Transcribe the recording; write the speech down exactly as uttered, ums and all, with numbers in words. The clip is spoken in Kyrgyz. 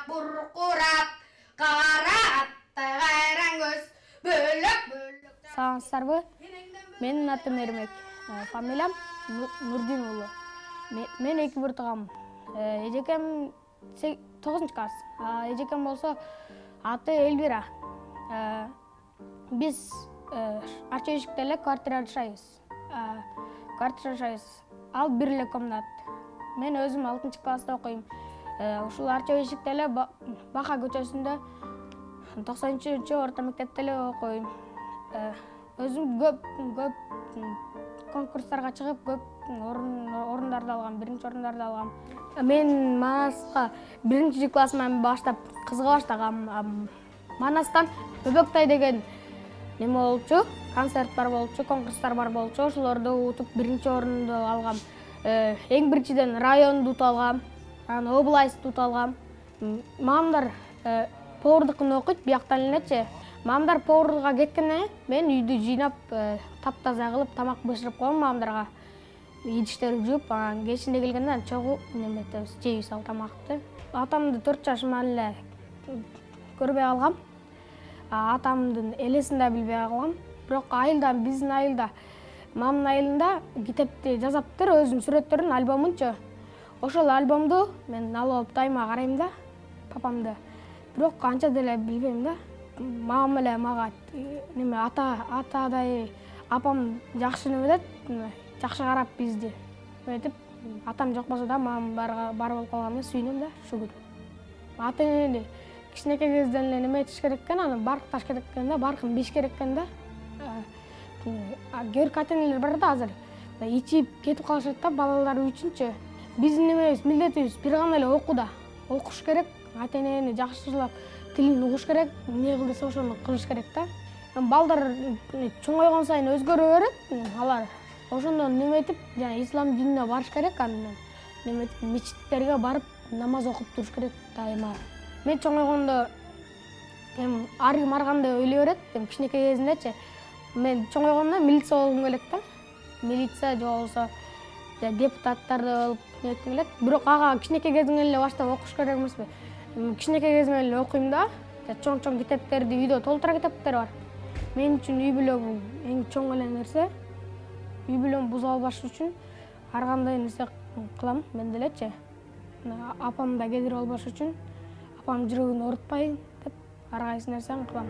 буркурап, кара аттай кайран көз, бөлөк-бөлөк. Саламатсыздарбы? Менин атым Эрмек, фамилиям Нурдин уулу. Мен эки бир туугам. Эжекем тогузунчу класс. Эжекем болсо аты Элвира. Биз Арча Эшикте эле квартира жашайбыз. Квартира жашайбыз. Ал бир эле комнат. Мен өзүм алтынчы класста окуйм. Ушул Арча Эшикте эле Бака көчөсүндө токсонунчу орто мектепте эле окуйм. Өзүм көп көп конкурстарга чыгып, көп орундарды алгам, биринчи орундарды алгам. Мен Манаска биринчи классыман баштап кызыга баштагам. Манастан Бөбөктай деген неме болчу, концерт бар болчу, конкурстар бар болчу. Ошолорду утуп биринчи орунду алгам. Эң биринчиден районду утуп алгам, анан областты утуп алгам. Мамдар повардыкын окуйт бияктан элечи. Мамдар поварга кеткенде мен үйдү жыйнап, таптаза кылып, тамак бышырып коем мамдарга. Идиштерди жууп, анан кечинде келгенде чогуу неметебиз, жейбиз ал тамакты. Атамды төрт жашыман эле көрбөй калгам. Атамдын элесин да билбей калгам. Бирок айылда, биздин айылда, мамдын айылында китепти жазаптыр, өзүнүн сүрөттөрүн, альбомунчу. Ошол альбомду мен алып алып дайыма карайм да, папамды. Бирок анча деле билбейм да. Мамам эле мага неме ата атадай апам жакшы неме дейт, жакшы карап бизди. Эметип, атам жок болсо да мамам бар болуп калганына сүйүнөм да ушул күн. Ата-энени кичинекей кезден эле неме этиш керек экен, аны баркташ керек экен да, баркын биш керек экен да. Көрк ата-энелер бар да азыр. Ичип кетип калышат да балалары үчүнчү. Биздин немебиз, милдетибиз бир гана эле окууда. Окуш керек, ата-энени жакшылап тилин угуш керек, эмне кыл десе ошону кылыш керек да. Балдар чоңойгон сайын өзгөрө берет, алар. Ошондон неметип, жана ислам динине барыш керек, анан неметип мечиттерге барып намаз окуп туруш керек дайыма. Мен чоңойгондо эми ар ким ар кандай ойлой берет, кичинекей кезиндечи. Мен чоңойгондо милиция болгум келет да. Милиция же болбосо депутаттарды болуп нетким келет. Бирок ага кичинекей кезиңен эле баштап окуш керек эмеспи? Кичинекей кезиңен эле окуйм да. Чоң-чоң китептерди үйдө толтура китептер бар. Мен үчүн үй бүлө бул эң чоң эле нерсе. Үй бүлөм бузуп албаш үчүн ар кандай нерсе кылам мен делечи. Апам да кедир болбош үчүн, апам жүрөгүн оорутпайын деп ар кайсы нерсени кылам.